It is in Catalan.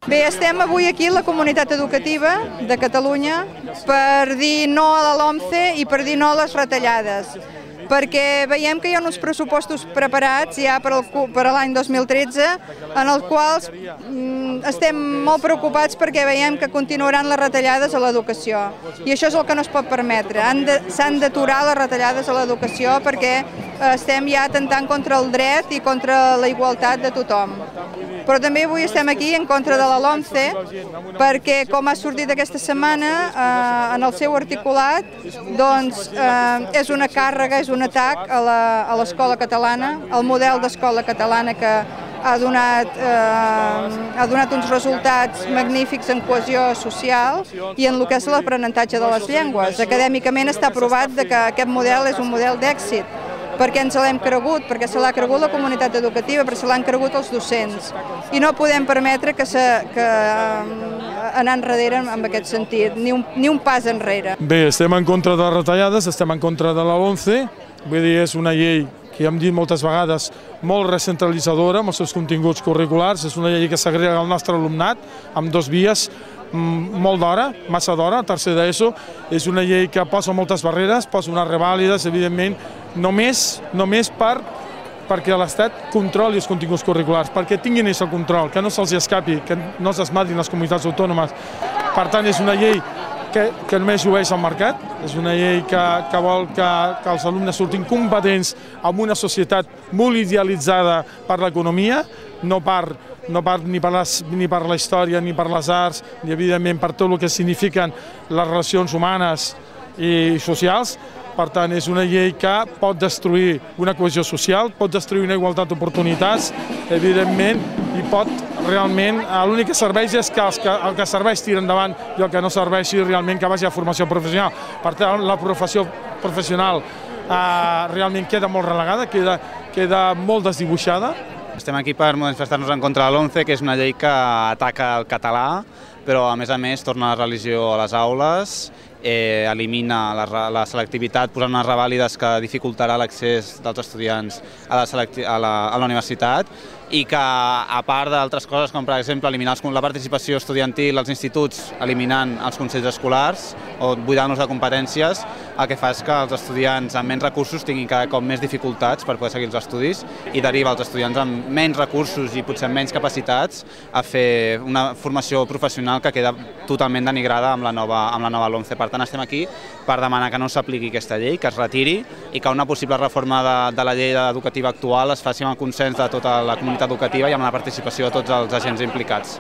Bé, estem avui aquí a la comunitat educativa de Catalunya per dir no a la LOMCE i per dir no a les retallades, perquè veiem que hi ha uns pressupostos preparats ja per a l'any 2013 en els quals estem molt preocupats perquè veiem que continuaran les retallades a l'educació i això és el que no es pot permetre. S'han d'aturar les retallades a l'educació perquè estem ja atemptant contra el dret i contra la igualtat de tothom. Però també avui estem aquí en contra de la LOMCE perquè, com ha sortit aquesta setmana, en el seu articulat, doncs és una càrrega, és un atac a l'escola catalana, al model d'escola catalana que ha donat uns resultats magnífics en cohesió social i en el que és l'aprenentatge de les llengües. Acadèmicament està provat que aquest model és un model d'èxit, perquè ens l'hem cregut, perquè se l'ha cregut la comunitat educativa, perquè se l'han cregut els docents. I no podem permetre que anar enrere en aquest sentit, ni un pas enrere. Bé, estem en contra de les retallades, estem en contra de la LOMCE, vull dir, és una llei que ja hem dit moltes vegades, molt recentralitzadora amb els seus continguts curriculars, és una llei que s'agrega al nostre alumnat amb dos vies, molt d'hora, massa d'hora, tercer d'ESO, és una llei que posa moltes barreres, posa unes revàlides, evidentment, només perquè l'Estat controli els continguts curriculars, perquè tinguin aquest control, que no se'ls escapi, que no s'esmadrin les comunitats autònomes. Per tant, és una llei que només llueix al mercat, és una llei que vol que els alumnes surtin competents en una societat molt idealitzada per l'economia, no ni per la història, ni per les arts, ni evidentment per tot el que signifiquen les relacions humanes i socials. Per tant, és una llei que pot destruir una cohesió social, pot destruir una igualtat d'oportunitats, evidentment, i pot realment, l'únic que serveix és que el que serveix tira endavant i el que no serveixi realment que vagi a formació professional. Per tant, la professió professional realment queda molt relegada, queda molt desdibuixada. Estem aquí per manifestar-nos en contra de la LOMCE, que és una llei que ataca el català, però a més torna la religió a les aules, elimina la selectivitat posant unes revàlides que dificultarà l'accés dels estudiants a la universitat i que, a part d'altres coses, com per exemple eliminar la participació estudiantil als instituts eliminant els consells escolars o buidant-los de competències, el que fa és que els estudiants amb menys recursos tinguin cada cop més dificultats per poder seguir els estudis i deriva els estudiants amb menys recursos i potser menys capacitats a fer una formació professional que queda totalment denigrada amb la nova LOMCE. Per tant, estem aquí per demanar que no s'apliqui aquesta llei, que es retiri i que una possible reforma de la llei educativa actual es faci amb el consens de tota la comunitat educativa i amb la participació de tots els agents implicats.